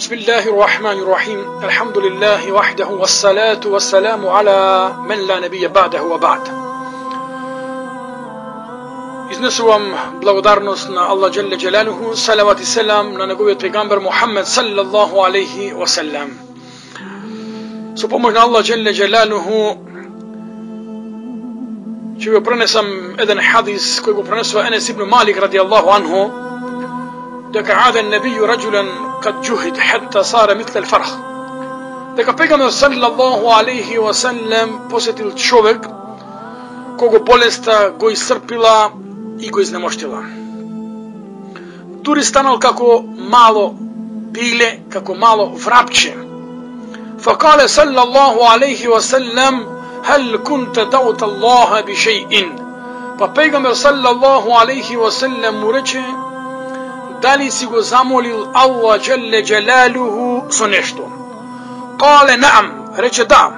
بسم الله الرحمن الرحيم الحمد لله وحده والصلاة والسلام على من لا نبي بعده وبعد. Изнесувам благодарност на Аллах Джелле Джелалуху, салават и селам на неговиот пегамбер Мухаммед саллаллаху алейхи ва салlam. Со помош на Аллах Джелле Джелалуху ќе го пренесам еден хадис кој го пренесува Енес ибн Малик радијаллаху анху, дека عاد النبي رجلا قد جهد حتى صار مثل الفرخ. Дека пегамбер саллаллаху алейхи ва салlam посетил човек кого болеста го исцрпила и го изнемоштила. Дури станал како мало пиле, како мало врапче. فقال صلى الله عليه وسلم هل كنت دعوت الله بشيء. Па пегамбер саллаллаху алейхи ва салlam му рече: дали си го замолил Аллах Джелле Джелалуху со нешто? قال نعم, рече да.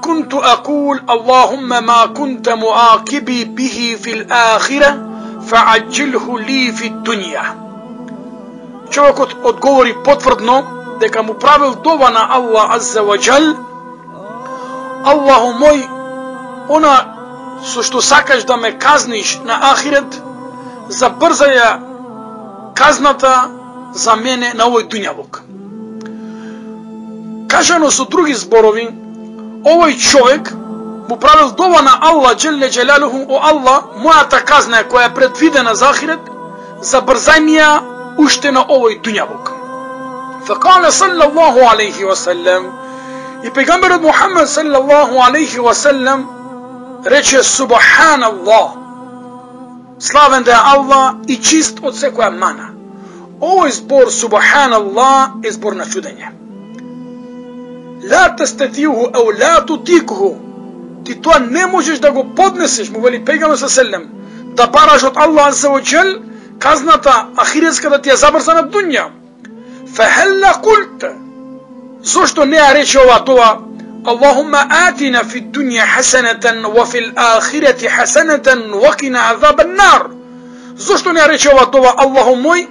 كنت أقول اللهم ما كنت مؤاكبي به في الآخرة فعجله لي في الدنيا. Човекот одговори потврдно дека му правил дова на Аллах Азза ва Джал: Аллаху мој, она со што сакаш да ме казниш на ахирет, забрзаја казната за мене на овој дуњалук. Кажано со други зборови, овој човек му правил дова на Аллах Джелле Джелалуху: о Аллах, мојата казна која е предвидена за ахирет, забрзај ми ја уште на овој дуњалук. Факале саллаллаху алейхи ва салlam, и пегамберот Мухаммед саллаллаху алейхи ва салlam рече: Субханаллах, славен да е Аллах и чист од секоја мана. Овој збор Субханаллах е збор на чудење. Ла тастатиуху ау ла тутикуху, ти тоа не можеш да го поднесеш, му вели пегамбер саллаллаху, да бараш од Аллах азза ва джал казната ахиретска да ти ја забрза на дуња. Фахелла култа, зошто не ја рече ова дова: Аллахумма атина фи дуња хасанатан ва фил ахирати хасанатан ва кина азабан нар. Зошто не ја рече ова дова: Аллаху мој,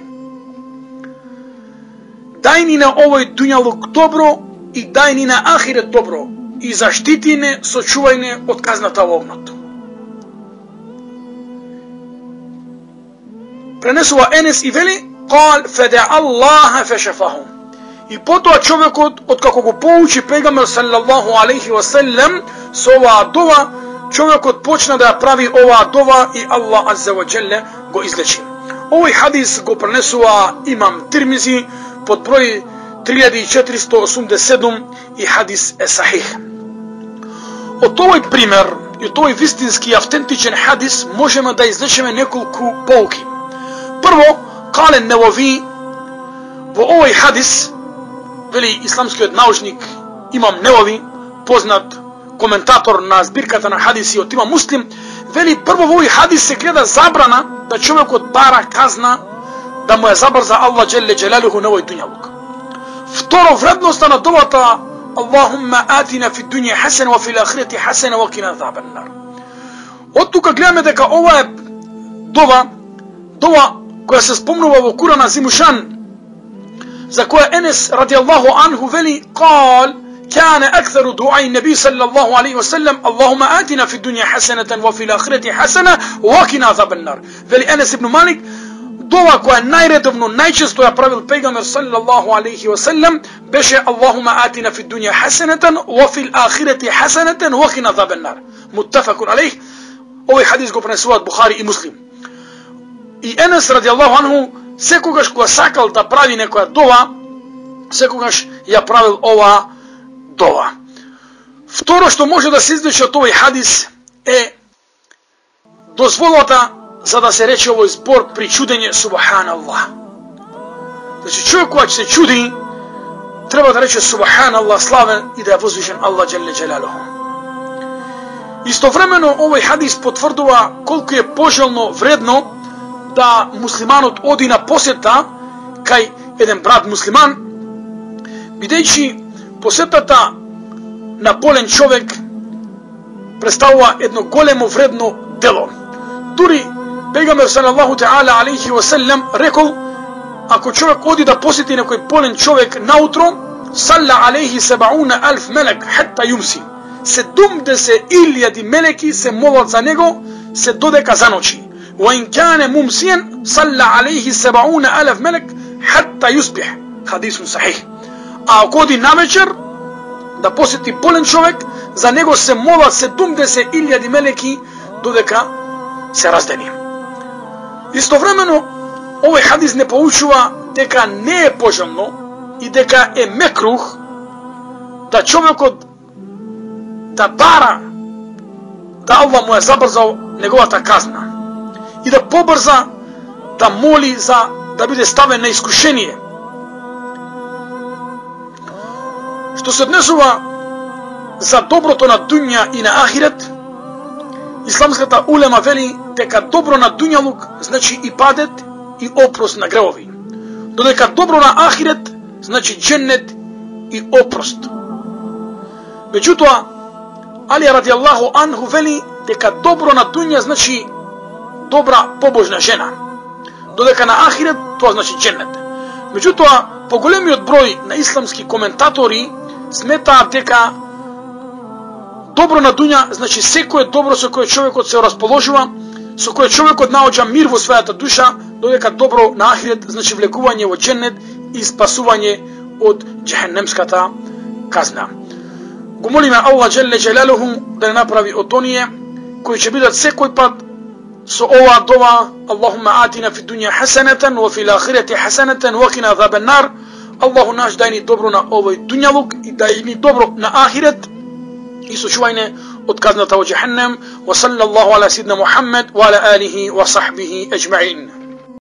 дај ни на овој дуњалук добро и дај ни на ахирет добро и заштити не, сочувај не од казната во огнот. Пренесува Енес и вели: قال فدع الله فشفاه. И потоа човекот, откако го поучи пегамбер саллаллаху алейхи ва салlam со оваа дова, човекот почна да ја прави оваа дова и Аллах азза ва джале го излечи. Овој хадис го пренесува имам Тирмизи под број 3487 и хадис е сахих. Од овој пример и од овој вистински автентичен хадис можеме да извлечеме неколку поуки. Прво, кале Невови во овој хадис, вели исламскиот научник имам Невови, познат коментатор на збирката на хадиси од имам Муслим, вели прво во овој хадис се гледа забрана да човекот бара казна да му ја забрза Аллах Джелле Джелалуху на овој дуњалук. Второ, вредноста на довата Аллахумма атина фи дуња хасана ва фил ахирати хасана ва кина азабан нар. Од тука гледаме дека ова е дова која се спомнува во Куран Азимушан, за која Енес радијаллаху анху вели: قال كان أكثر دعاء النبي صلى الله عليه وسلم اللهم آتنا في الدنيا حسنة وفي الآخرة حسنة وقنا عذاب النار. Вели Енес ибн Малик, дова која најредовно, најчесто ја правил пегамбер саллаллаху алейхи ва салlam беше: Аллахума атина фи дуња хасанатан ва фил ахирати хасанатан ва қина азабан нар. Муттафакун алейх. Овој хадис го пренесуваат Бухари и Муслим. И Енес радијаллаху анху секогаш кога сакал да прави некоја дова, секогаш ја правил ова дова. Второ што може да се извлече од овој хадис е дозволата за да се рече овој збор при чудење Субханаллах. Значи човек кога ќе се чуди, треба да рече Субханаллах, славен и да ја возвишен Аллах Джелле Джелалуху. Истовремено овој хадис потврдува колку е пожелно, вредно да муслиманот оди на посета кај еден брат муслиман, бидејќи посетата на болен човек представува едно големо вредно дело. Дури пегамбер салаллаху таала алейхи ва салlam рекол: ако човек оди да посети некој болен човек наутро, салла алейхи 70,000 мелек хатта юмси. 70,000 мелеки се молат за него се додека заночи. وإن كان ممسيا صلى عليه 70,000 ملك حتى يصبح. حديث صحيح. ако оди навечер да посети болен човек, за него се молат 70,000 мелеки додека се раздени. Истовремено, овој хадис не поучува дека не е пожелно и дека е мекрух да човекот да бара да Аллах му е забрзал неговата казна и да побрза да моли за да биде ставен на искушение. Што се однесува за доброто на дуња и на ахирет, исламската улема вели дека добро на дуњалук значи и падет и опрост на гревови, додека добро на ахирет значи дженнет и опрост. Меѓутоа, Али радијаллаху анху вели дека добро на дуња значи добра побожна жена, додека на ахирет тоа значи дженнет. Меѓутоа, поголемиот број на исламски коментатори сметаат дека добро на дуња значи секое добро со кое човекот се расположува, со кое човекот наоѓа мир во својата душа, додека добро на ахирет значи влекување во дженнет и спасување од џехенемската казна. Го молиме Аллах джелле джелалуху да не направи од оние кои ќе бидат секој пат со оваа дова: Аллахумма атина фи дуња хасанатан ва фил ахирати хасанатан ва қина азабан нар. Аллаху наш, дај ни добро на овој дуњалук и дај ни добро на ахирет и сочувајне од казната во џехенем. Ва саллаллаху ала сидна Мухаммед ва ала алихи ва сахбихи аџмаин.